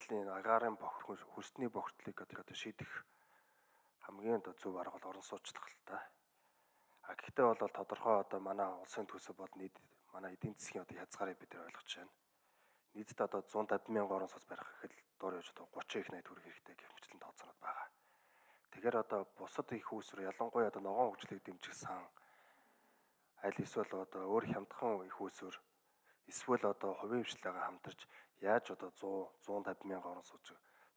байдлын агаарын хөрсний бохирдлыг одоо шийдэх хамгийн зөв арга бол орон сууцлах л та. Гэхдээ бол тодорхой одоо манай улсын төсөв бол манай эдийн засгийн одоо хязгаарыг бид ойлгож байна. Нийтдээ одоо 150,000 орон сууц барих гэхэд доор явж одоо 30 их 80 төгрөг хэрэгтэй гэх мэтлэн тооцоонод байгаа. Тэгэхээр одоо бусад их үүсвэр ялангуяа одоо ногоон хөгжлийг дэмжих сан аль эсвэл одоо өөр хямдхан их үүсвэр эсвэл одоо хувийн хвшлээгээ хамтарч яаж одоо 100-150,000 орон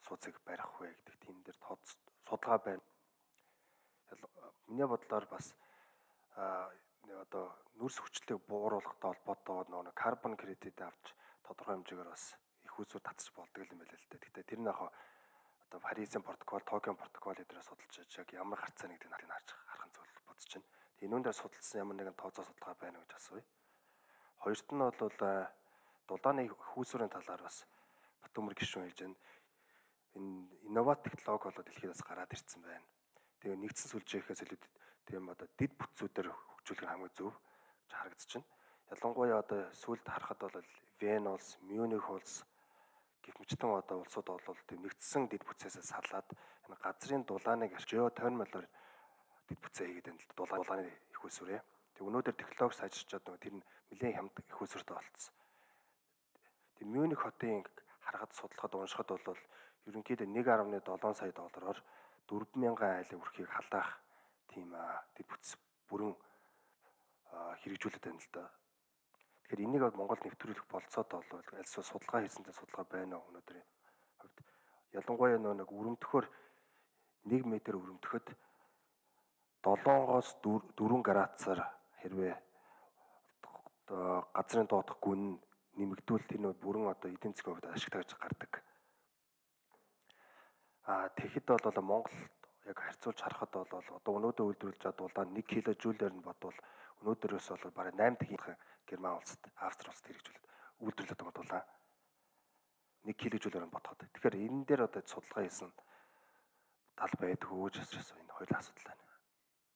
сууцыг барих вэ гэдэг тийм дээр судалгаа байна. Миний бодлоор бас одоо нүрс хүчлийг бууруулахтай холбоотойгоор нөгөө карбон кредит авч тодорхой хэмжээгээр бас их үүсвэр татчих болдог юм байна л да. Гэхдээ тэр нь яг одоо Парисын протокол, Токио протокол эдгээр судалж яг ямар гарцаа нэгдийг харах нь зөв бодож байна. Энэ дээр судалсан ямар нэгэн тооцоо судалгаа байна гэж асууя. Хоёрт нь бол дулааны их үүсвэрийн талаар бас Батөмөр гишүүн хэлж байна. Энэ инноват технологи болоод дэлхийд бас гараад ирсэн байна. Тэгээ нэгдсэн сүлжээхээс илүү тийм одоо дид бүтцүүдээр хөгжүүлэх нь хамгийн зөв гэж харагдаж байна. Ялангуяа одоо сүүлд харахад бол Вен улс, Мюних улс гэх мэтэн одоо улсууд бол тийм нэгдсэн дид бүтцээсээ салаад энэ газрын дулааныг geothermal-оор дид бүтцээ хийгээд байна л дулааны их үүсвэрээ. Тэг өнөөдөр технологи сайжирчаад нөгөө тэр нь нэлээд хямд их үүсвэртэй болцсон. Тэг Мюних хотын харахад судлахад уншихад бол ерөнхийдөө 1.7 сая доллараар 4,000 айлын үрхийг халаах тийм дид бүтц бүрэн хэрэгжүүлээд байна л да. Тэгэхээр энийг Монголд нэвтрүүлэх болцоод бол альсвал судалгаа хийсэнтэй судалгаа байна уу өнөөдрийн хувьд. Ялангуяа нэг өрөмтөхөөр 1 м өрөмтөхөд 7-оос 4 градусаар хэрвээ газрын доодох гүн нэмэгдүүл тэр нөө бүрэн одоо эдийн засгийн хувьд ашигтай гэж гардаг. Тэгэхэд бол Монголд яг харьцуулж харахад бол одоо өнөөдөр үйлдвэрлэж байгаа дулаан 1 кJ-ээр нь бодвол өнөөдрөөс бол бараг 8 дахин Герман улсад, Австри улсад хэрэгжүүлээд үйлдвэрлэдэг байгаа дулаан 1 кJ-ээр нь бодоход. Тэгэхээр энэ дээр одоо судалгаа хийсэн тал байдгүй гэж асуусан энэ хоёул асуудал байна.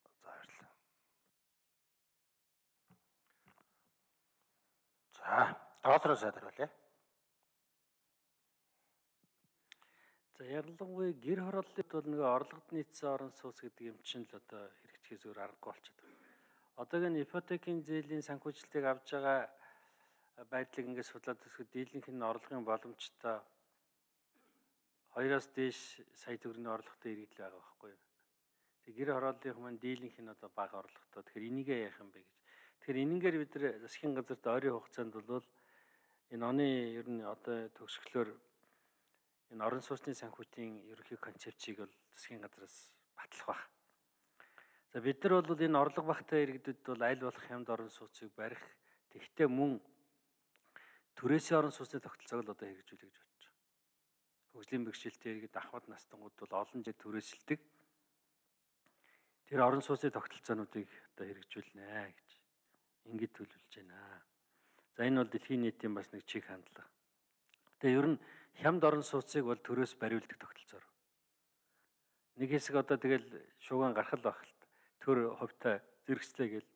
За баярлалаа. За, доолроо сайдруулъя. За ялангуяа гэр хорооллын бол нэг орлогод нийцсэн орон сууц гэдэг юм чинь л одоо хэрэгжихээс өөр аргагүй болчиход байна. Одоогийн ипотекийн зээлийн санхүүжилтийг авж байгаа байдлыг ингээд судлаад үзэхэд дийлэнх нь орлогын боломжтой 2-оос дээш сая төгрөгийн орлоготой иргэдэл байгаа байхгүй юу. Тэг гэр хорооллынх маань дийлэнх нь одоо бага орлоготой. Тэгэхээр энийгээ яах юм бэ гэж. Тэгэхээр энэнгээр бид нар засгийн газарт ойрын хугацаанд бол энэ оны ер нь одоо төгсгөлөөр энэ орон сууцны санхүүтийн ерөнхий концепцийг бол засгийн газраас батлах байх. За бид нар бол энэ орлого багтай иргэдэд бол аль болох хямд орон сууцыг барих. Тэгвэл мөн түрээсийн орон сууцны тогтолцоог л одоо хэрэгжүүлэх гэж бодож байна. Хөгжлийн бэрхшээлтэй иргэд ахмад настангууд бол олон жил түрээсэлдэг. Тэр орон сууцны тогтолцоонуудыг одоо хэрэгжүүлнэ гэж ингэж төлөвлөж байна. За энэ бол дэлхийн нийтийн бас нэг чиг хандлага. Тэгээ ер нь хямд орон сууцыг бол төрөөс бариулдаг тогтолцоор. Нэг хэсэг одоо тэгэл шууган гарах л байх л төр хувьтай зэрэгцлээ гэл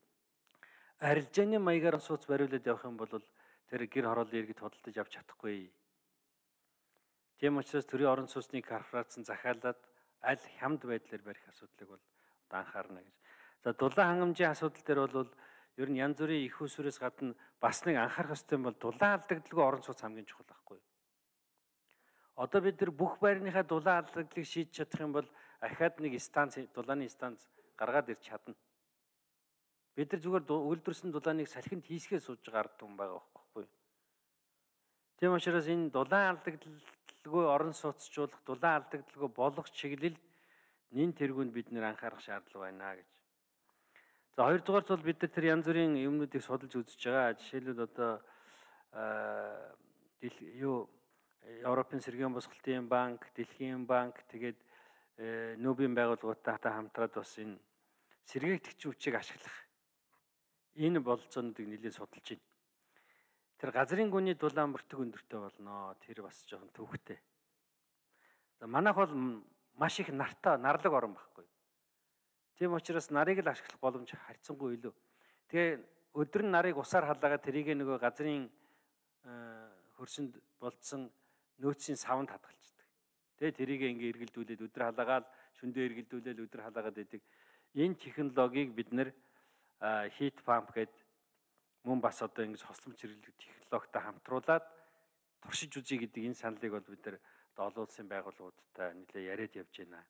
арилжааны маягаар сууц бариулаад явах юм бол тэр гэр хорооллын иргэд хөдөлж авч чадахгүй. Тийм учраас төрийн орон сууцны корпорац нь захиалаад аль хямд байдлаар барих асуудлыг бол анхаарна гэж. За дулаан хангамжийн асуудал дээр бол ер нь янз бүрийн их усүрээс гадна бас нэг анхаарах ёстой юм бол дулаан алдагдaltaгүй орон сууц хамгийн чухал байхгүй. Одоо бид нар бүх байрныхаа дулаан алдагдлыг шийдэж чадах юм бол ахаад нэг станц дулааны станц гаргаад ирч чадна. Бид нар зүгээр үйлдвэрсэн дулааныг салхинд хийсгээс сууж байгаа ард түмэн байгаа байхгүй. Тийм учраас энэ дулаан алдагдaltaгүй орон сууцчлуулах, дулаан алдагдaltaгүй болгох чиглэл нэн тэргүүнд бид нэр анхаарах шаардлага байна гэж. За хоёрдугаарт бол бид нар тэр янз бүрийн юмнуудыг судалж үзэж байгаа. Жишээлбэл одоо Европын сэргээн босголтын банк, Дэлхийн банк тэгээд нүүбийн байгууллагуудтай хамтраад бас энэ сэргээгдэгч хүчийг ашиглах энэ бололцоонуудыг нэлээд судалж байна. Тэр газрын гүний дулаан бүртгэг өндөртэй болно. Тэр бас жоохон төвхтэй. За манайх бол маш их нарлаг орон байхгүй. Тийм учраас нарыг л ашиглах боломж харьцангуй илүү. Тэгээ өдөр нь нарыг усаар халаагаад тэрийг нөгөө газрын хөрсөнд болцсон нөөцийн савнд хадгалцдаг. Тэгээ тэрийг ингээ эргэлдүүлээд өдөр халаагаал шөндөө эргэлдүүлээд өдөр халаагаад байдаг. Энэ технологиг бид нэр heat pump гэдэг мөн бас одоо ингэж хосломж хэрэглэх технологитой хамтруулад туршиж үзье гэдэг энэ саналыг бол бид нар олон улсын байгууллагуудтай нэлээд яриад явж байна.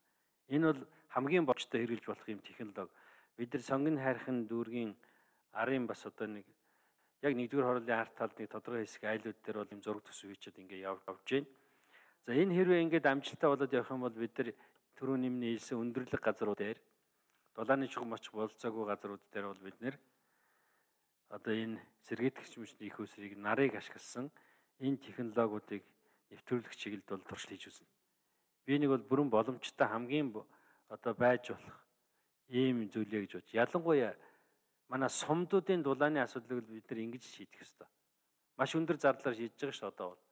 Энэ бол хамгийн бочтой хэрэгжилж болох юм технологи. Бид нар сонгон хайрхан дүүргийн арын бас одоо нэг яг 1-р хорлолын арт талд нэг тодорхой хэсэг айлууд дээр бол юм зураг төсөв хийчихэд ингээ явж байна. За энэ хэрвээ ингээд амжилттай болоод явах юм бол бид нар түрүүн нэмний хэлсэн өндөрлөг газрууд дээр дулааны чухам очих болцоогүй газрууд дээр бол бид нэр одоо энэ сэргээтгэгч мөчний их усрыг нарыг ашигласан энэ технологиудыг нэвтрүүлэх чиглэлд бол туршил хийж үзнэ. Би нэг бол бүрэн боломжтой хамгийн одоо байж болох ийм зүйлээ гэж бодож. Ялангуяа манай сумдуудын дулааны асуудлыг бид нар ингэж шийдэх ёстой. Маш өндөр зардлаар шийдэж байгаа ш одоо бол.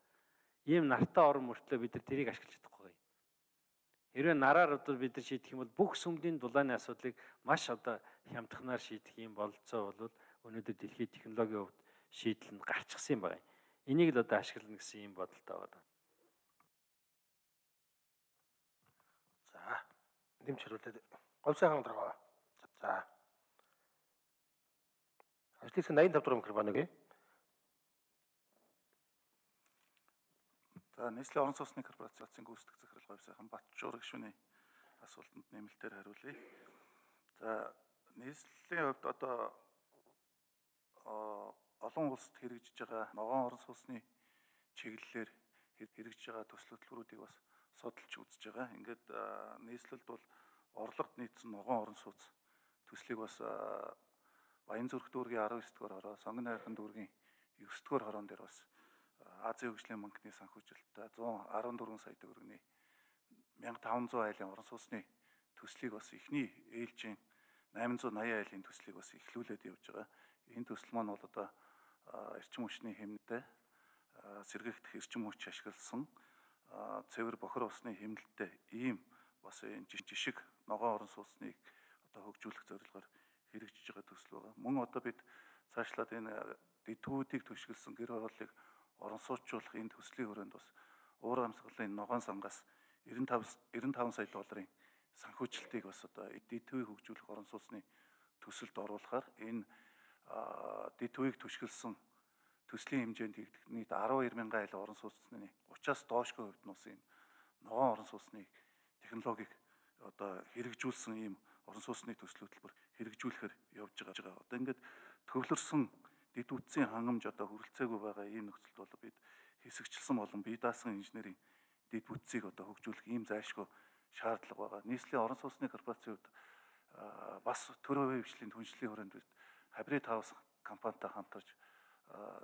Ийм нартай орон мөртлөө бид нар тэрийг ашиглаж чадахгүй. Хэрвээ нараар одоо бид нар шийдэх юм бол бүх сүмдийн дулааны асуудлыг маш одоо хямдханаар шийдэх юм бололцоо бол өнөөдөр дэлхийн технологийн хувьд шийдэл нь гарчихсан юм байна. Энийг л одоо ашиглана гэсэн юм бодолтой байна. За, нэмж хариулаад Говьсын хаан дарга. За. Ажлын 85 дугаар микрофон өгье. За, нийслэлийн орон сууцны корпорацийн гүйцэтгэх захирал Говьсын хаан Батчуур гишүүний асуултанд нэмэлтээр хариулъя. За, нийслэлийн хувьд одоо олон улсад хэрэгжиж байгаа ногоон орон сууцны чиглэлээр хэрэгжиж байгаа төсөл хөтөлбөрүүдийг бас судалж үзэж байгаа. Ингээд нийслэлд бол орлогод нийцсэн ногоон орон сууц төслийг бас Баянзүрх дүүргийн 19-р хороо, Сонгон хайрхан дүүргийн 9-р хороон дээр бас Азийн хөгжлийн банкны санхүүжилттэй 114 сая төгрөгийн 1500 айлын орон сууцны төслийг бас эхний ээлжийн 880 айлын төслийг бас эхлүүлээд явж байгаа. Энэ төсөл маань бол одоо эрчим хүчний хэмнэлтэй сэргээгдэх эрчим хүч ашигласан цэвэр бохир усны хэмнэлтэй ийм бас энэ жишг ногоон орон сууцныг одоо хөгжүүлэх зорилгоор хэрэгжиж байгаа төсөл байгаа. Мөн одоо бид цаашлаад энэ дэдгүүдийг түшгэлсэн гэр хорооллыг орон сууцчлах энэ төслийн хүрээнд бас уур амьсгалын ногоон сангаас 95 сая долларын санхүүжилтийг бас одоо дэдгүүдийг хөгжүүлэх орон сууцны төсөлд оруулахаар энэ дэдгүүдийг түшгэлсэн төслийн хэмжээнд хийгдэх нийт 12,000 айл орон сууцны 30-аас доошгүй хувьд нь бас энэ ногоон орон сууцны технологиг одоо хэрэгжүүлсэн ийм орон сууцны төсөл хөтөлбөр хэрэгжүүлэхээр явж байгаа. Одоо ингээд төвлөрсөн дэд үтсийн хангамж одоо хүрэлцээгүй байгаа ийм нөхцөлд бол бид хэсэгчлсэн болон бие даасан инженерийн дэд бүтцийг одоо хөгжүүлэх ийм зайлшгүй шаардлага байгаа. Нийслэлийн орон сууцны корпорацийн хувьд бас төрийн хвшлийн түншлэлийн хүрээнд бид Хабрид хаус компанитай хамтарч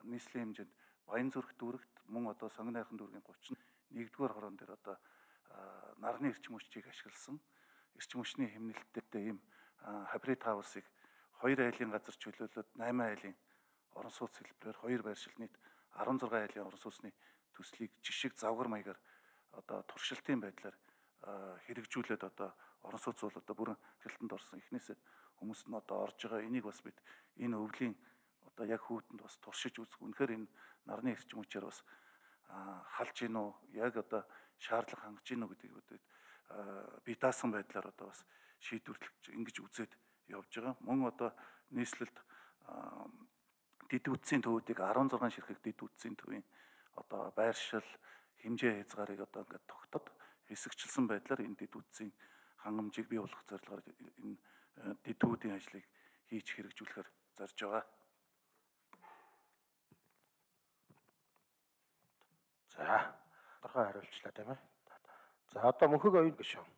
нийслэлийн хэмжээнд Баянзүрх дүүрэгт мөн одоо Сонгон хайрхан дүүргийн 31-р хороон дээр одоо нарны эрчим хүчийг ашигласан эрчим хүчний хэмнэлттэй ийм Хабрид хаусыг 2 айлын газар чөлөөлөд 8 айлын орон сууц хэлбэрээр 2 байршил нийт 16 айлын орон сууцны төслийг жишг завгар маягаар одоо туршилтын байдлаар хэрэгжүүлээд одоо орон сууц бол одоо бүрэн хяналтанд орсон эхнээсээ хүмүүс нь одоо орж байгаа. Энийг бас бид энэ өвлийн одоо яг хүүтэнд бас туршиж үзэх. Үнэхээр энэ нарны эрчим хүчээр бас халж гин үү, яг одоо шаардлага хангаж гин үү гэдгийг бие даасан байдлаар одоо бас шийдвэрлэж ингэж үзээд явж байгаа. Мөн одоо нийслэлд дэд үтсийн төвүүдийг 16 ширхэг дэд үтсийн төвийн одоо байршил хэмжээ хязгаарыг одоо ингээд тогтоод хэсэгчлсэн байдлаар энэ дэд үтсийн хангамжийг бий болгох зорилгоор энэ дэдгүүдийн ажлыг хийж хэрэгжүүлэхээр зорж байгаа. За, тодорхой хариулчлаа тийм ээ. За, одоо мөнхөг оюун гишүүн.